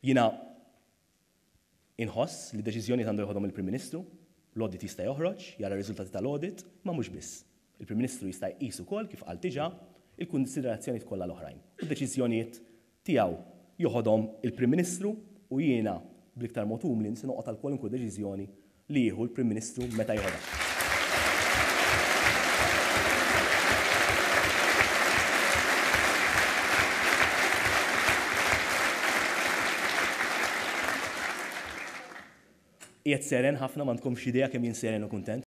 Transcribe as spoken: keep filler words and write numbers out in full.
Jiena inħoss li deċiżjoni għandu joħodhom il-Prim Ministru, l-audit jista' joħroġ, jara r-riżultati tal-audit, ma mhux biss. Il-Prim Ministru jista' jqis ukoll kif qal diġà il-kunsiderazzjonijiet kollha l-oħrajn. U d-deċiżjonijiet tiegħu joħodhom il-Prim Ministru u jiena bl-iktar mod umli se noqgħod għal kwalunkwe deċiżjoni li jieħu l-Prim Ministru meta joħodha. Qiegħed seren ħafna, m'għandkomx idea kemm jien seren u kuntent.